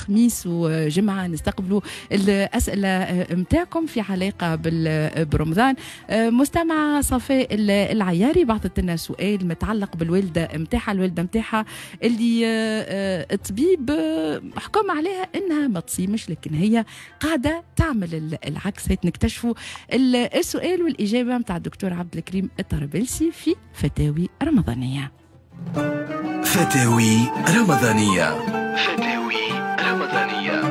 خميس وجمعة نستقبلوا الأسئلة متاعكم في علاقة برمضان. مستمعة صفاء العياري بعثت لنا سؤال متعلق بالوالدة متاعها، الوالدة متاعها اللي الطبيب حكم عليها انها ما تصيمش، لكن هي قاعدة تعمل العكس. هيك نكتشفوا السؤال والإجابة متاع الدكتور عبد الكريم الطرابلسي في فتاوي رمضانية. فتاوي رمضانية، فتاوي رمضانية.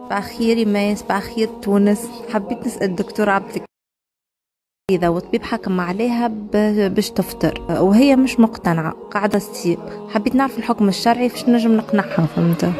صباح الخير إيمان، صباح الخير تونس. حبيت نسأل الدكتور عبد الكريم، إذا والطبيب حكم عليها باش تفطر وهي مش مقتنعة قاعدة تصيم، حبيت نعرف الحكم الشرعي فاش نجم نقنعها، فهمت؟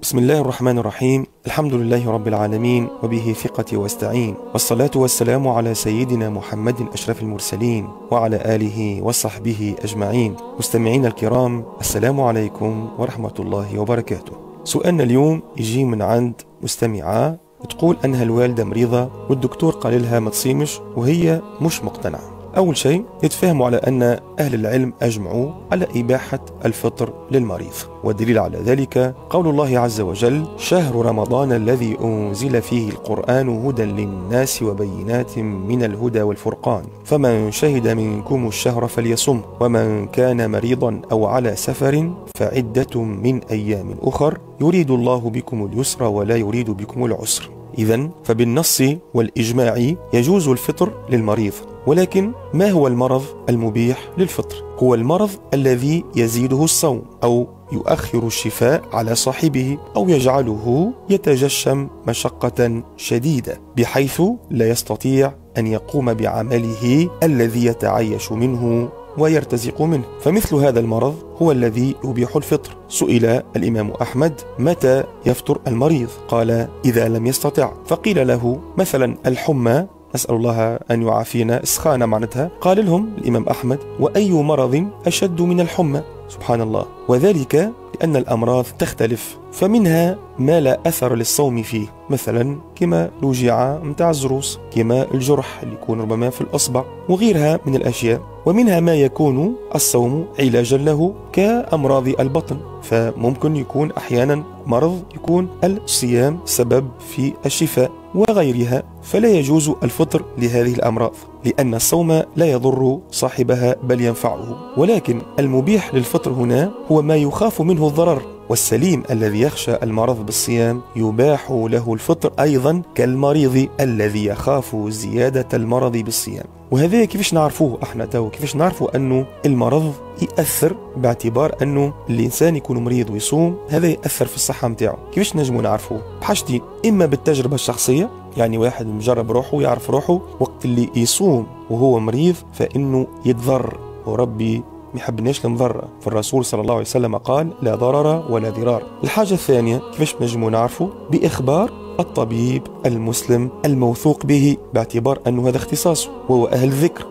بسم الله الرحمن الرحيم، الحمد لله رب العالمين، وبه ثقتي واستعين، والصلاة والسلام على سيدنا محمد أشرف المرسلين وعلى آله وصحبه أجمعين. مستمعين الكرام، السلام عليكم ورحمة الله وبركاته. سؤالنا اليوم يجي من عند مستمعة تقول أنها الوالدة مريضة والدكتور قال لها ما تصيمش وهي مش مقتنعة. أول شيء يتفاهموا على أن أهل العلم أجمعوا على إباحة الفطر للمريض، والدليل على ذلك قول الله عز وجل: شهر رمضان الذي أنزل فيه القرآن هدى للناس وبينات من الهدى والفرقان، فمن شهد منكم الشهر فليصم، ومن كان مريضا أو على سفر فعدة من أيام أخر، يريد الله بكم اليسر ولا يريد بكم العسر. إذن فبالنص والإجماع يجوز الفطر للمريض، ولكن ما هو المرض المبيح للفطر؟ هو المرض الذي يزيده الصوم أو يؤخر الشفاء على صاحبه أو يجعله يتجشم مشقة شديدة بحيث لا يستطيع أن يقوم بعمله الذي يتعايش منه ويرتزق منه، فمثل هذا المرض هو الذي يبيح الفطر. سئل الإمام أحمد: متى يفطر المريض؟ قال: إذا لم يستطع. فقيل له: مثلا الحمى، نسأل الله أن يعافينا، إسخانة معناتها. قال لهم الإمام أحمد: وأي مرض أشد من الحمى؟ سبحان الله. وذلك لأن الأمراض تختلف، فمنها ما لا أثر للصوم فيه، مثلا كما الوجيعة متاع الزروس، كما الجرح اللي يكون ربما في الأصبع وغيرها من الأشياء، ومنها ما يكون الصوم علاجا له كأمراض البطن، فممكن يكون أحيانا مرض يكون الصيام سبب في الشفاء وغيرها، فلا يجوز الفطر لهذه الأمراض لأن الصوم لا يضر صاحبها بل ينفعه. ولكن المبيح للفطر هنا هو ما يخاف منه الضرر، والسليم الذي يخشى المرض بالصيام يباح له الفطر أيضا كالمريض الذي يخاف زيادة المرض بالصيام. وهذا كيفاش نعرفوه احنا تو؟ كيفاش نعرفوا أنه المرض يأثر باعتبار أنه الإنسان يكون مريض ويصوم هذا يأثر في الصحة متاعه؟ كيفاش نجموا نعرفوه؟ بحاجتين: إما بالتجربة الشخصية، يعني واحد مجرب روحه ويعرف روحه وقت اللي يصوم وهو مريض فإنه يتضر، وربي ما يحبناش المضرة، فالرسول صلى الله عليه وسلم قال: لا ضرر ولا ضرار. الحاجة الثانية كيفاش نجموا نعرفوا؟ بإخبار الطبيب المسلم الموثوق به، باعتبار أنه هذا اختصاصه وهو أهل الذكر،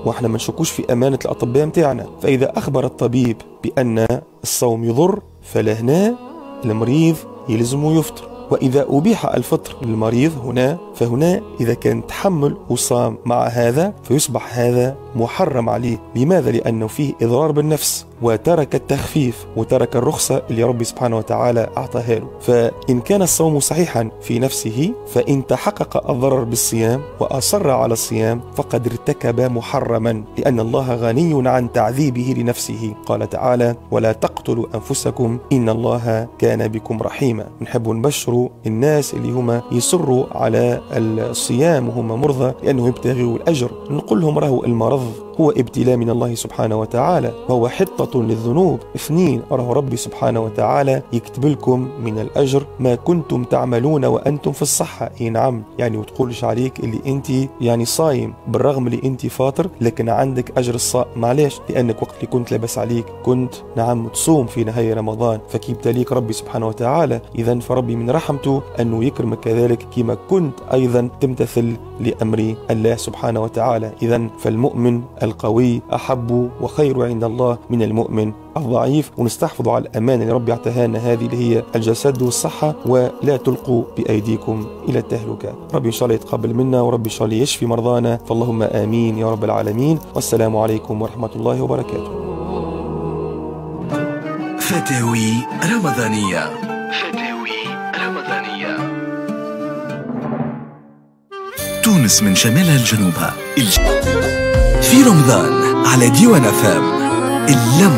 وإحنا ما نشكوش في أمانة الأطباء متاعنا. فإذا أخبر الطبيب بأن الصوم يضر فلهنا المريض يلزمه يفطر. وإذا أبيح الفطر للمريض هنا، فهنا إذا كان تحمل وصام مع هذا فيصبح هذا محرم عليه. لماذا؟ لأنه فيه إضرار بالنفس، وترك التخفيف وترك الرخصة اللي ربي سبحانه وتعالى أعطاها له. فإن كان الصوم صحيحا في نفسه، فإن تحقق الضرر بالصيام وأصر على الصيام فقد ارتكب محرما، لأن الله غني عن تعذيبه لنفسه. قال تعالى: ولا تقتلوا أنفسكم إن الله كان بكم رحيما. نحب نبشر الناس اللي هما يصروا على الصيام وهم مرضى لأنه يبتغوا الأجر، نقول لهم راهو المرض هو ابتلاء من الله سبحانه وتعالى، وهو حطة للذنوب. اثنين، راه ربي سبحانه وتعالى يكتب لكم من الأجر ما كنتم تعملون وأنتم في الصحة. اي نعم، يعني وتقولش عليك اللي أنت يعني صايم بالرغم اللي أنت فاطر، لكن عندك أجر الصائم. معليش؟ لأنك وقت اللي كنت لابس عليك كنت نعم تصوم في نهاية رمضان، فكيبتليك ربي سبحانه وتعالى. إذا فربي من رحمته أنه يكرمك كذلك كما كنت أيضا تمتثل لأمر الله سبحانه وتعالى. إذا فالمؤمن القوي أحب وخير عند الله من المؤمن الضعيف، ونستحفظ على الأمانة اللي ربي اعطاها لنا، هذه اللي هي الجسد والصحة، ولا تلقوا بأيديكم إلى التهلكة. ربي إن شاء الله يتقبل منا، وربي إن شاء الله يشفي مرضانا، فاللهم آمين يا رب العالمين. والسلام عليكم ورحمة الله وبركاته. فتاوي رمضانية. فتاوي رمضانية. تونس من شمالها لجنوبها في رمضان على ديوان FM. اللم